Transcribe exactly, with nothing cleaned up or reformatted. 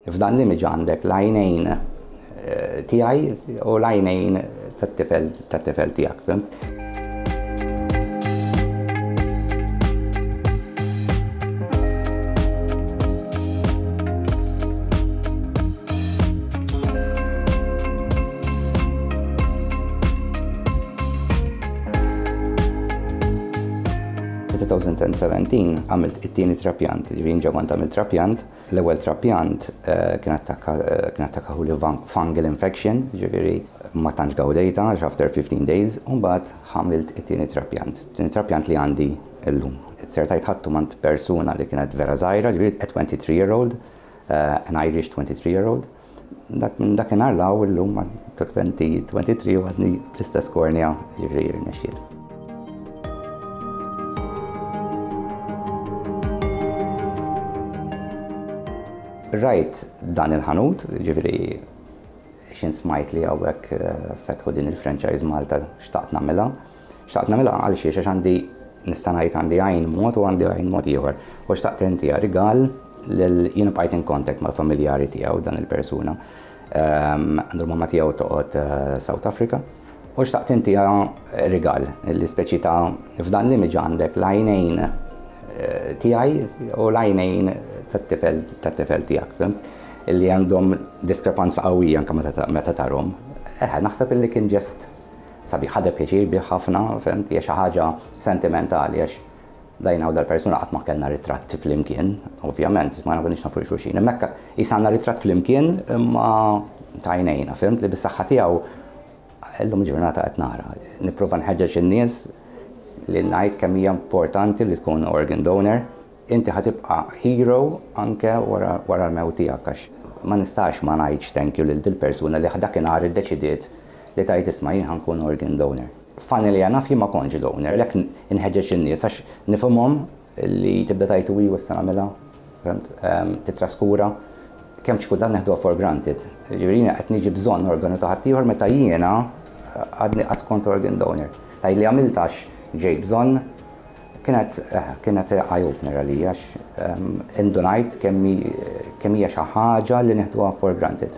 F'dan l-image għandek l-għajnejn eh, tiegħi u l-għajnejn tat-tifel tat-tifel tiegħek, fhimt? twenty seventeen għamilt it-tieni trapjant, ġifieri ġa kont għamilt trapjant. L-ewwel trapjant eh, kien attakka eh, kien attakka fungal infection, ġifieri ma tantx gawdejta għax after fifteen days, u mbagħad għamilt it-tieni trapjant. Tieni trapjant li għandi llum. Sertajt ħadtu mingħand persuna li kienet vera żgħira, ġifieri a twenty-three year old, uh, an Irish twenty-three year old. Dak minn dakinhar 'l hawn illum ta' twenty twenty-three u għadni l-istess kornea, ġifieri rnexxiet. Rajt dan il-ħanut, ġifieri xin smajt li hawnhekk eh, fetħu din il-franchise Malta, xtaqt nagħmilha. Xtaqt nagħmilha għal xiex? Għax għandi, nista' ngħid, għandi għajn mod u għandi għajn mod ieħor. U xtaqt intiha rigal lil jiena bqajt in contact mal-familjari tiegħu dan il-persuna. Ehm, għandu mamma tiegħu toqgħod eh, South Africa. U xtaqt intiha rigal, li speċi ta' f'dan l-image għandek l-għajnejn eh, tiegħi u l-għajnejn tat-tifel tat-tifel tiegħek, fhimt? Illi għandhom diskrepanza qawwija anke meta tarhom. Eh, naħseb illi kien ġest sabiħ, ħadet pjaċir bih ħafna, fhimt, hija xi ħaġa sentimentali għax dajna u dal-persuna qatt ma kellna ritratt flimkien, ovvjament, ma nakunix nafu xulxin. Hemmhekk jisanna ritratt flimkien imma tajnejna, fhimt, li bis-saħħa tiegħu illum ġurnata qed nara. Nipprova nħeġġeġ in-nies li ngħid kemm hija importanti li tkun organ donor. Inti ħa tibqa' hero anke wara wara l-mewt tiegħek għax ma nistax ma ngħidx thank you lil dil-persuna li dakinhar iddeċidiet li tgħid, "Isma', jien ħa nkun organ donor." Funnily enough, jien ma kontx donor, lek inħeġġeġ in-nies għax nifhimhom li tibda tgħid u issa nagħmilha, fhimt, titraskura kemm xi kultant neħduha for granted. Ġifieri qed niġi bżonn organu ta' ħaddieħor meta jiena għadni qas kont organ donor. Taj li għamiltax ġej bżonn kienet eh, kienet eye opener għalija għax indunajt kemm hija xi ħaġa li neħduha for granted.